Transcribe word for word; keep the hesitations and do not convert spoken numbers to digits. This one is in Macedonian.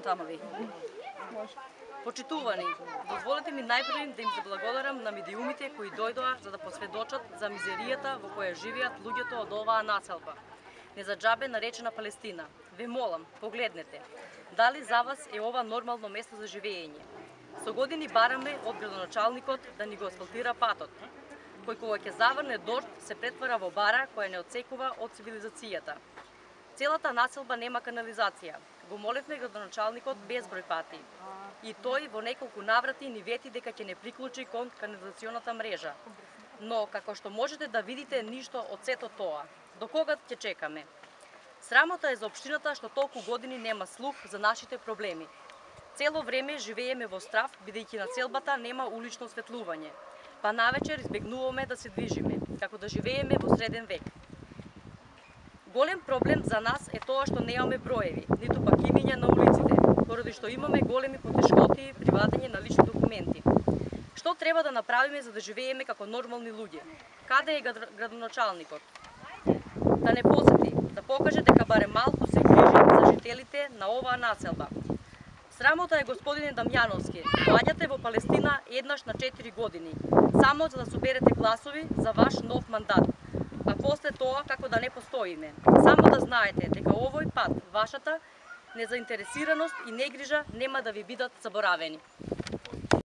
Тамави. Почитувани, дозволете ми најпрво да им заблагодарам на медиумите кои дојдоа за да посведочат за мизеријата во која живеат луѓето од оваа населба, не за џабе наречена Палестина. Ве молам, погледнете, дали за вас е ова нормално место за живење? Со години бараме од градоначалникот да ни го асфалтира патот, кој кога ќе заврне дожд се претвара во бара која не отсекува од цивилизацијата. Целата населба нема канализација. Го молевме градоначалникот безброј пати. И тој во неколку наврати ни вети дека ќе не приклучи кон канализационата мрежа. Но, како што можете да видите, ништо од сето тоа. До кога ќе чекаме? Срамота е за општината што толку години нема слух за нашите проблеми. Цело време живееме во страв, бидејќи на селбата нема улично осветлување. Па навечер избегнуваме да се движиме, како да живееме во среден век. Голем проблем за нас е тоа што немаме броеви, ниту пак имиња на улиците, поради што имаме големи потешкоти при вадење на лични документи. Што треба да направиме за да живееме како нормални луѓе? Каде е градоначалникот? Да не посети, да покаже дека барем малку се грижи за жителите на оваа населба. Срамота е, господине Дамјановски, доаѓате во Палестина еднаш на четири години, само за да соберете гласови за ваш нов мандат. А после тоа како да не постоиме. Само да знаете дека овој пат вашата незаинтересираност и негрижа нема да ви бидат заборавени.